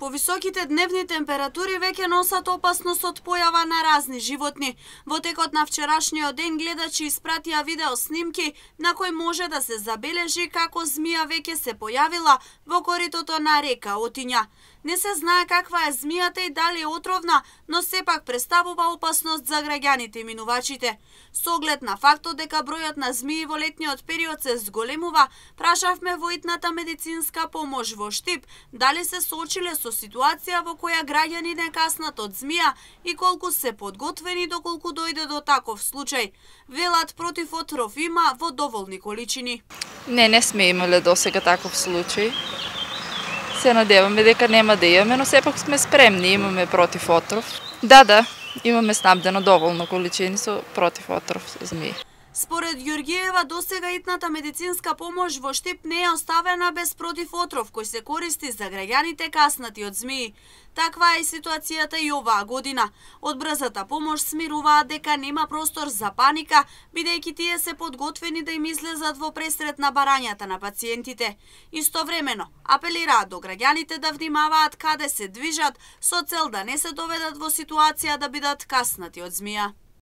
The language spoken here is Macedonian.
Повисоките дневни температури веќе носат опасност од појава на разни животни. Во текот на вчерашниот ден гледачи испратија видео снимки на кои може да се забележи како змија веќе се појавила во коритото на река Отиња. Не се знае каква е змијата и дали е отровна, но сепак представува опасност за граѓаните и минувачите. Со оглед на фактот дека бројот на змии во летниот период се зголемува, прашавме во итната медицинска помош во Штип дали се соочиле со ситуација во која граѓани не каснат од змија и колку се подготвени доколку дојде до таков случај. Велат против отров има во доволни количини. Не сме имале досега таков случај. Се надеваме дека нема да имаме, но сепак сме спремни, имаме против отров. Да, имаме снабдено доволно количини со против отров змии. Според Ѓоргиева, досега итната медицинска помош во Штип не е оставена без против отров кој се користи за граѓаните каснати од змии. Таква е ситуацијата и оваа година. Од брзата помош смируваат дека нема простор за паника, бидејќи тие се подготвени да им излезат во пресрет на барањата на пациентите. Истовремено, апелираат до граѓаните да внимаваат каде се движат со цел да не се доведат во ситуација да бидат каснати од змија.